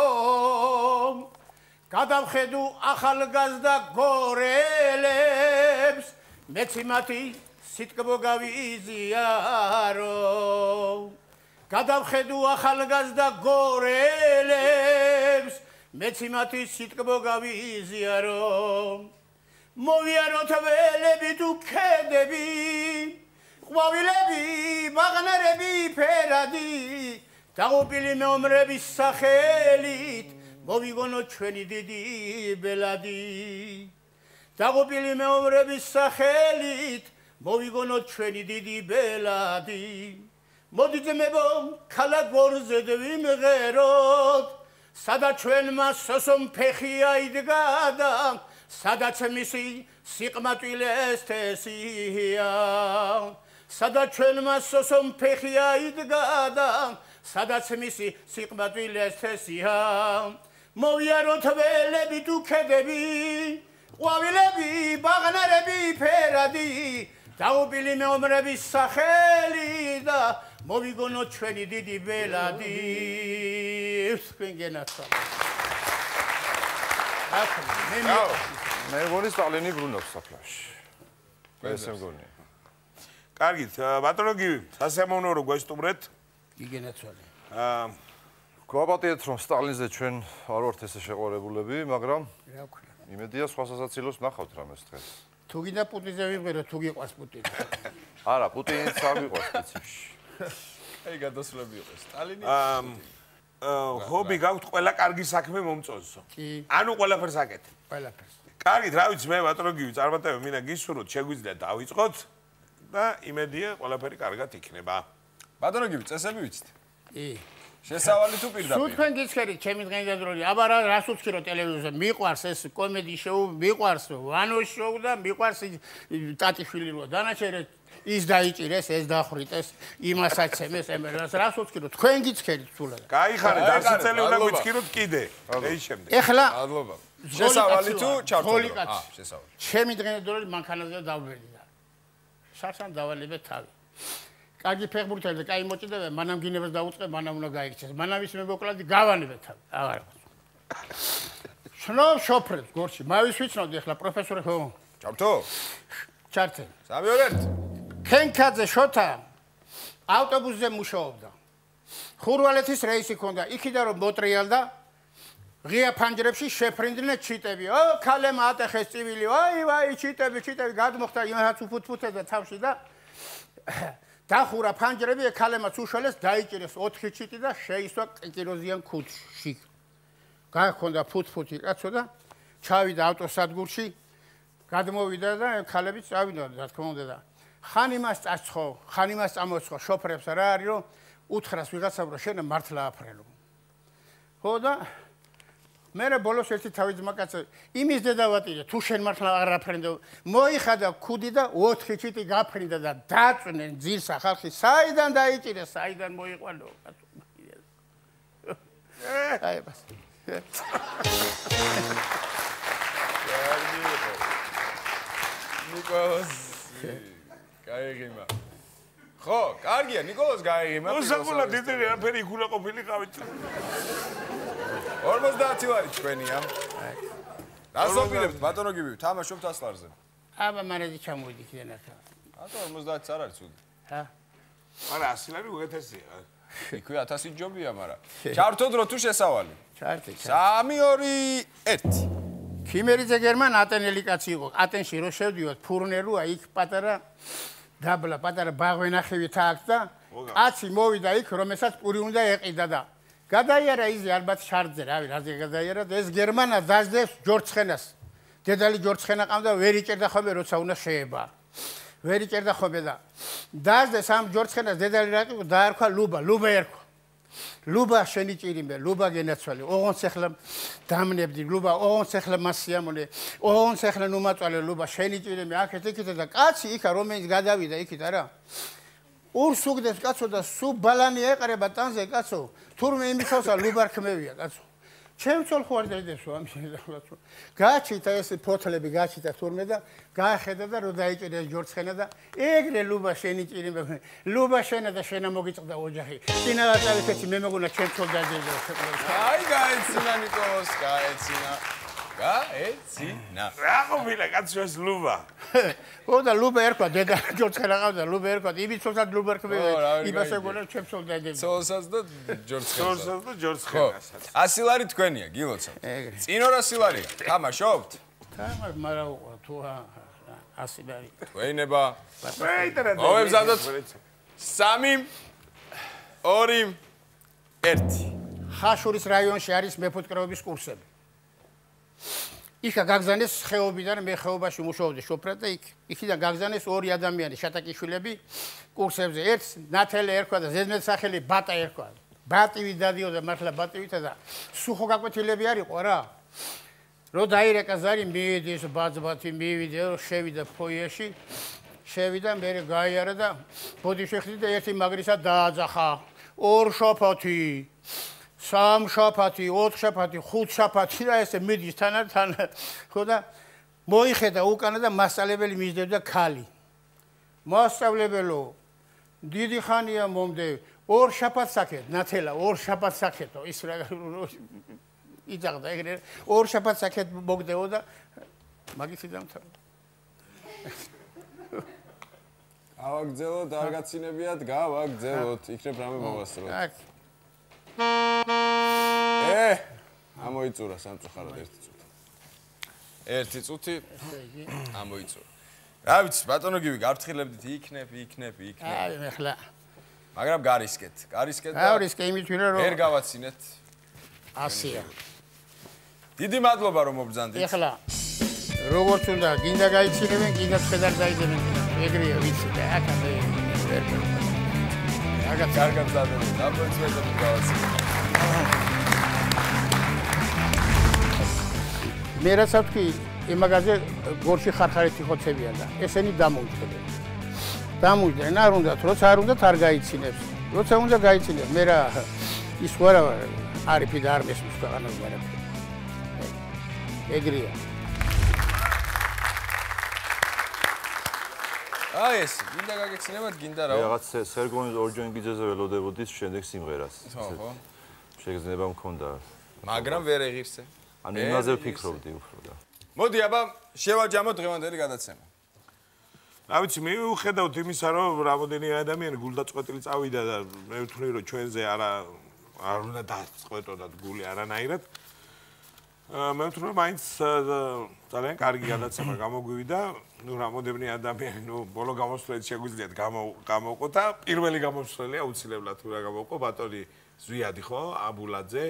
გადავხედო ახალგაზრდა გორელებს მეც მათი სიტკბო გავიზიარო გადავხედო ახალგაზრდა გორელებს მეც მათი სიტკბო გავიზიარო მოვიაროთ ველები თუ ქედები ყვავილები მაღნარები ფერადი დაღუპილი მეომრების სახელით მოვიგონო ჩვენი დიდი ბელადი დაღუპილი მეომრების სახელით მოვიგონო ჩვენი დიდი ბელადი მოდი ძმებო ქალაქ გორზედ ვიმღეროთ სადაც ჩვენმა სოსომ ფეხი აიდგა და სადაც მისი სიყმაწვილეს თესია სადაც ჩვენმა სოსომ ფეხი აიდგა და სადაც მისი სიყმაწვილეს თესია მოვიაროთ ველები თუ ქედები ყვავილები ბაღნარები ფერადი დაღუპილი მეომრების სახელი და მოვიგონო ჩვენი დიდი ბელადი თქვენ გენაცვალ მე მგონი სტალინი ბრუნავს საფლავში ესე მგონია კარგით ბატონო გივი სასიამოვნოა რომ გვესტუმრეთ გიგენაცვალე აა გვაპატიეთ რომ სტალინზე ჩვენ არ ვართ ესე შეყარებულები მაგრამ რა ვქნა იმედია სხვა სასაცილოს ნახავთ რამეს დღეს თუ გინდა პუტინზე ვიმღერო თუ გიყვარს პუტინი არა პუტინიც არ გიყვარს სპეციფში აი გადასვლები იყო სტალინი აა ჰობი გაქვთ ყველა კარგი საქმე მომწონსო კი ანუ ყველაფერს აკეთებ ყველაფერს კარგით რა ვიცი მე ბატონო გივი წარმატებები მინდა გისურვოთ შეგვიძლია დავიწყოთ და იმედია ყველაფერი კარგად იქნება ბატონო გივი წესები ვიცით კი შესავალი თუ პირდაპირ სულ თქვენ გიცხერით ჩემი დღევანდელი აბა რას უცხირო ტელევიზორზე მიყვარს ეს კომედი შოუ მიყვარს ვანო შოუ და მიყვარს ტატიშვილი რო დანაჩერე ის დაიჭირეს ეს დახრიტეს იმას აცემეს ემერას რას უცხირო თქვენ გიცხერით სულად გაიხარეთ ასი წელი უნდა გვიცხიროთ კიდე ეი შემდეგ ეხლა მადლობა შესავალი თუ ჩართული აა შესავალი ჩემი დღევანდელი მანქანაზე დავბერია სარსან დავალებე თავი კარგი ფეხბურთელი და კაი მოჭიდება მანამ გინებას დაუწყე მანამ უნდა გაიქცეს მანამ ის მებოკლადი გავანებე თავი აღარ შნო შოფრებს გორში მავის ვიცნობდი ახლა პროფესორი ხო ჩართო ჩართე სამი ორ ერთი ქენქაძე შოთა ავტობუსზე მუშაობდა ხურვალეთის რეისი ჰქონდა იქიდან რომ მოტრიალდა ღია ფანჯრებში შეფრინდნენ ჩიტები ო ქალემ ატეხეს წივილი ვაი ვაი ჩიტები ჩიტები გადმოხდა იმასაც უფუთფუთე და თავში და დახურა ფანჯრები ქალემაც უშველეს დაიჭირეს ოთხი ჩიტი და შეისვა კიკიროზიან ქუდში გაჰქონდა ფუთფუთი კაცო და ჩავიდა ავტოსადგურში გადმოვიდა და ქალები წავიდა რა თქმა უნდა და ხან იმას წაცხო ხან იმას წამოცხო შოფრებს რა არის რომ უთხრას ვიღაცამ რომ შენ მართლა აფრენო ხო და მე ბოლოს ერთი თავი ძმაკაცი იმის დედავატირე თუ შენ მართლა არ აფრენდო მოიხადა ქუდი და ოთხი ჩიტი გაფრინდა და დაწვნენ ძილსა ხალხი საიდან დაიჭირეს საიდან მოიყვანო აი ბას ნიკოლოზ გაიგიმა ხო კარგია ნიკოლოზ გაიგიმა უსაკულა დიდი რაფერი იქულა ყოფილი ყავით ორმოცდაათი ვარი ჩვენია დასოფილებთ ბატონო გივი თამაშობთ ასლარზე აბა მანეთი ჩამოვიდი კიდე ნახა ბატონო ორმოცდაათი არ არის ცუდი ჰა არა ასი ლარი უეთესია იქვე ათასი ჯობია მაგრამ ჩართოდ რო თუ შესავალი ჩართე სამი ორი ერთი ქიმერიძე გერმან ატენელი კაცი იყო ატენში რო შევდივართ ფურნელუა იქ პატარა დაბლა პატარა ბაღვენახევი თაქვს და კაცი მოვიდა იქ რომელსაც პური უნდა ეყიდა და გადაიარა იზი ალბათ შარდზე რავი რაზე გადაიარა და ეს გერმანა დაждებს ჯორცხენას დედალი ჯორცხენა ყავდა ვერ იჭერდა ხოლმე როცა უნდა შეება ვერ იჭერდა ხოლმე და დაждებს ამ ჯორცხენას დედალი რა იყო დაარქვა ლუბა ლუბა ერქვა ლუბა შენი ჭირიმე ლუბა გენაცვალე ოღონდ ახლა დამნებდი ლუბა ოღონდ ახლა მასიამონე ოღონდ ახლა ნუმაწვალე ლუბა შენი ჭირიმე აქეთ იქით და კაცი იქა რომელიც გადავიდა იქით არა ურსუგდეს კაცო და სუ ბალანი ეყრება ტანზე კაცო თურმე იმისავსა ლუბარ ხმევია კაცო ჩემცოლ ხო არ დაიდებსო ამ შეიძლება გაჩიტა ეს ფოთლები გაჩიტა თურმე და გაახედა და რო დაიჭირე ჯორცხენა და ეგრე ლუბა შენი ჭირიმე ლუბა შენა და შენა მოგიწყდა ოჯახი წინაა წავიქეცი მე მეგონა ჩემცოლ დაიდებსო აი გაეცინა ნიკოლოს გაეცინა გაეცინა. რა ყოფილა კაცო ეს ლუბა? ო და ლუბა ერქვა დედა ჯორჯხე რაღაცა ლუბა ერქვა იმის ცოლსაც ლუბა ერქვა იმას ეგონა ჩემსოლ დაგები. ცოლსაც და ჯორჯხეს. ცოლსაც და ჯორჯხესაც. ასი ლარი თქვენია, გილოცავთ. წინ ორ ასი ლარია. თამაშობთ? თამაშ მარა უყვა თუ ასი ლარი. თქვენება. მეიტერა. მოვემზადოთ. სამი ორი ერთი. ხაშურის რაიონში არის მეფუტკრეობის კურსები. იქა გაგზავნეს ხეობიდან მე ხეობაში მუშაობდი შოფრად და იქ იქიდან გაგზავნეს ორი ადამიანი შატაკიშვილები კურსებზე. ერთს ნათელი ერქვა და ზედმეტ სახელი ბატა ერქვა. ბატივი დადიოდა მართლა ბატივითა და სუხო გაკვეთილები არისო რა. რო დაირეკა ზარი მივიდი ეს ბაძბათი მივიდი რო შევიდა ფოიეში შევიდა მე გაიარა და ბოდიში ხდი და ერთი მაგრისა დააძახა ორ შაფათი სამ შაფათი ოთხ შაფათი ხუთ შაფათი და ესე მიდის თანა თან ხო და მოიხედა უკანა და მასწავლებელი მისდევდა ქალი მასწავლებელო დიდი ხანია მომდე ორ შაფათს საკეთ ნათელა ორ შაფათს საკეთო ის რა იძახდა ეგრე ორ შაფათს საკეთ მოგდეო და მაგისი დამთავრდა გავაგზავნოთ არ გაცინებიათ გავაგზავნოთ იქნებ რამე მოვასწროთ ე ამოიწურა სამწუხაროდ ერთი წუთი ერთი წუთი ამოიწურა რა ვიცი ბატონო გივი გავფრთხილებდით იქნებ იქნებ იქნებ აი მე ხლა მაგრამ გარისკეთ გარისკეთ და გარისკე იმით ვირა რომ ვერ გავაცინეთ ასია დიდი მადლობა რომ მობრძანდით ეხლა როგორც უნდა გინდა გაიცინებენ გინდა შედარ დაიდებენ ეგრეა ვიცი და აქ ამე ვერ აგა კარგად დადებენ დაბოწმედები გავაცინეთ მე რასაც ვთქვი იმაგაზე გორში ხარხარეთი ხოცებიან და ესენი დამოუჯდებენ დამოუჯდნენ არ უნდათ როცა არ უნდათ არ გაიცინებს როცა უნდა გაიცინებს მე რა ის ვარა არიფი და არ მესმის ქვეყანას ვარაფერი ეგრეა აი ეს გინდა გაგეცინებათ გინდა რა რაღაც სერგონის ორჯონგიძეზე ველოდებოდის შემდეგ სიმღერას ხო ხო შეგრძნება მქონდა მაგრამ ვერ ეღირსე ანუ იმაზე ვფიქრობდი უფრო და მოდი აბა შევაჯამოთ დღევანდელი გადაცემა რა ვიცი მე ვხედავთ იმისა რომ რამოდენი ადამიანი გულდაწყვეტილი წავიდა და მე ვთვლი რომ ჩვენზე არა არ უნდა დაწყვეტოდათ გული არანაირად მე ვთვლი რომ მაინც ძალიან კარგი გადაცემა გამოგვივიდა ნუ რამოდენი ადამიანი ნუ ბოლო გამოსვლით შეგვიძლიათ გამოვყო და პირველი გამოსვლელი აუცილებლად თუ რა გამოვყო ბატონი ზვიადი ხო აბულაძე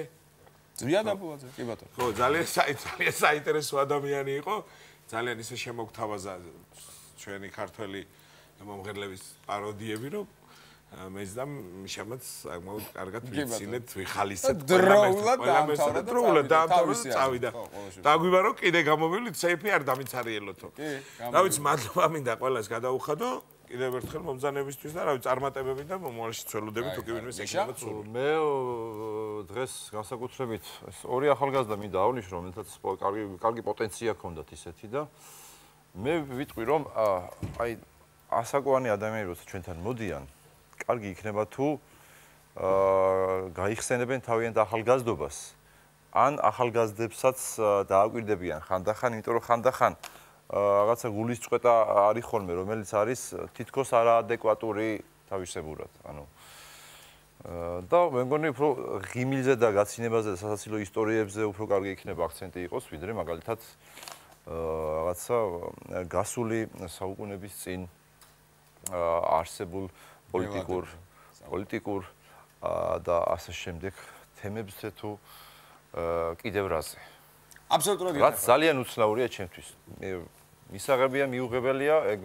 ზვიად აბულაძე კი ბატონო ხო ძალიან ძალიან საინტერესო ადამიანი იყო ძალიან ისე შემოგთავაზა ჩვენი ქართველი მომღერლების პაროდიები რომ მეც და მიშამაც საკმაოდ კარგად ვიცინეთ ვიხალისეთ დროულად დაამთავრა დროულად დაამთავრა წავიდა დაგვივა რომ კიდე გამოვივლით სეიფი არ დამიცარიელოთო რა ვიცი მადლობა მინდა ყველას გადაუხადო კიდევ ერთხელ მომბრძანებისთვის და რა ვიცი წარმატებები და მომავალში ცველოდები თუ კი ვინმე შეგიძლიათ სულ მე დღეს განსაკუთრებით ეს ორი ახალგაზრდა მინდა ავნიშნო რომელთაც კარგი კარგი პოტენცია ჰქონდათ ისეთი და მე ვიტყვი რომ აი ასაკოვანი ადამიანები როცა ჩვენთან მოდიან კარგი იქნება თუ გაიხსენებენ თავიანთ ახალგაზრდობას ან ახალგაზრდებსაც დააკვირდებიან ხანდახან იმიტომ რომ ხანდახან რაღაცა გულის წყვეტა არის ხოლმე რომელიც არის თითქოს არაადეკვატური თავისებურად ანუ და მე მგონი უფრო ღიმილზე და გაცინებაზე და სასაცილო ისტორიებზე უფრო კარგი იქნება აქცენტი იყოს ვიდრე მაგალითად რაღაცა გასული საუკუნეების წინ არსებულ პოლიტიკურ პოლიტიკურ და ასე შემდეგ თემებზე თუ კიდევ რაზე აბსოლუტურად რაც ძალიან უცნაურია ჩემთვის მე მისაღებია მიუღებელია ეგ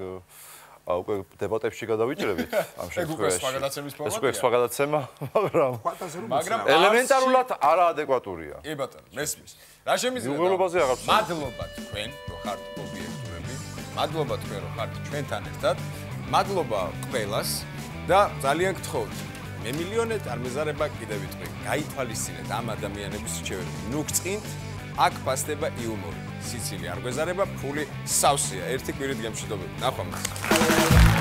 უკვე დებატებში გადავიჭრებით ამ შემთხვევაში ეს უკვე სხვა გადაცემა მაგრამ მაგრამ ელემენტარულად არაადეკვატურია კი ბატონო მესმის რა შემიძლია მიუღებლობაზე აღარ ვცნობ მადლობა თქვენ რომ ხართ ობიექტურები მადლობა თქვენ რომ ხართ ჩვენთან ერთად მადლობა ყველას და ძალიან გთხოვთ მე მილიონად არ მეზარება კიდევ ვიტყვი გაითვალისწინეთ ამ ადამიანების რჩევები ნუ გწყინთ აქ ფასდება იუმორი სიცილი არ გვეზარება ფული სავსეა ერთი კვირით გემშვიდობებით ნახვამდის